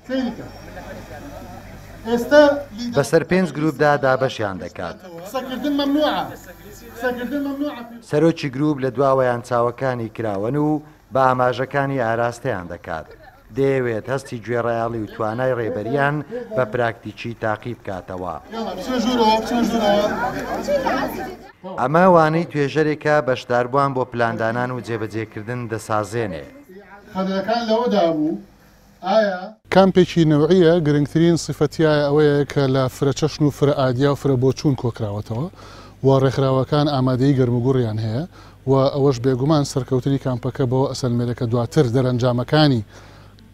سەیری کە ئێستا بەسەر پێنج گروپدا دابەشیان دەکات. قسەکردن مەمنوعە قسەکردن مەمنوعە. سەرۆکی گروپ لە دواوەیان چاوەکانی کراوەن و بە ئاماژەکانی ئاراستەیان دەکات. دەیەوێت هەستی گوێڕایەڵی و توانای ڕێبەرییان بە پراکتیکی تاقی بکاتەوە. ئەمە وانەی توێژەرێکە بەشداربووان بۆ پلاندانان و جێبەجێکردن دەسازێنێ. خەلەکان لەوەدا بوو ئایا. کامپێکی نەوعییە، گرنگترین سیفەت تیایا ئەوەیە کە لە فرەچەشن و فرە ئادیا و فرە بۆچوون کۆکراوەتەوە و ڕێکخراوەکان ئامادەیی گەرموگوڕیان هەیە و ئەوەش بێگومان سەرکەوتنی کامپەکە بەوە ئەسەلمێنێ کە دواتر دەرەنجامەکانی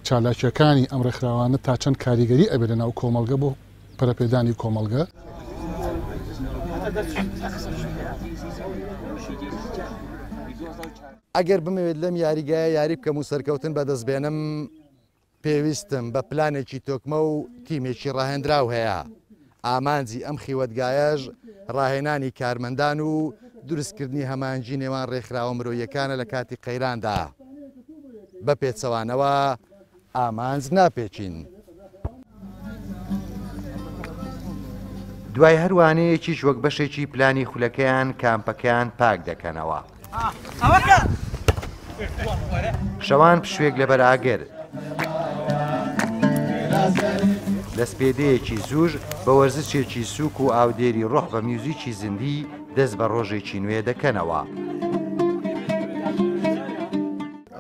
چالاکییەکانی ئەم ڕێکخراوانە تا چەند کاریگەری ئەبێ لە ناو کۆمەڵگە بۆ پەرەپێدانی کۆمەڵگە. ئەگەر بمەوێت لەم یاریگایە یاری بکەم و سەرکەوتن بەدەست بێنم، پێویستم بە پلانێکی تۆکمە و تیمێکی ڕاهێنراو هەیە. ئامانجی ئەم خیوەتگایەش ڕاهێنانی کارمەندان و دروستکردنی هەماهەنگی نێوان ڕێکخراوە مرۆییەکانە لە کاتی قەیراندا. بە پێچەوانەوە ئامانج ناپێکین. دوای هەر وانەیەکیش وەک بەشێکی پلانی خولەکەیان کامپەکەیان پاک دەکەنەوە. شەوان پشوێک لەبەر ئاگر. لە سپێدەیەکی زووش بە وەرزشێکی سووک و ئاودێری ڕۆح بە میوزیکی زیندی دەست بە ڕۆژێکی نوێ دەکەنەوە.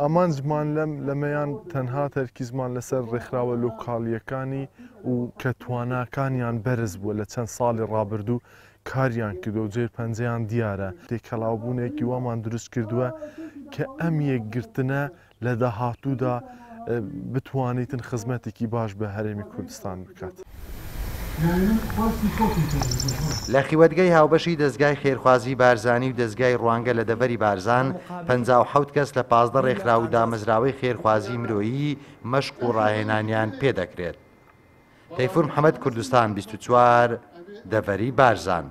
ئامانجمان لەم لەمەیان تەنها تەرکیزمان لەسەر ڕێکخراوە لۆکاڵییەکانی و کە تواناکانیان بەرز بووە لە چەند ساڵی ڕابردوو کاریان کردووە و جێ پەنجەیان دیارە، تێکەڵاوبوونێکی وامان دروست کردووە کە ئەم یەکگرتنە لە داهاتوودا بتوانیتن خزمەتێکی باش بە هەرێمی کوردستان بکات. لە خیوەتگەی هاوبەشی دەزگای خێرخوازی بارزانی و دەزگای ڕوانگە لە دەڤەری بارزان، 57 کەس لە 15 ڕێکخراو و دامەزراوەی خێرخوازی مرۆیی مەشق و ڕاهێنانیان پێدەکرێت. تەیفور محەمەد، کوردستان 24، دەڤەری بارزان.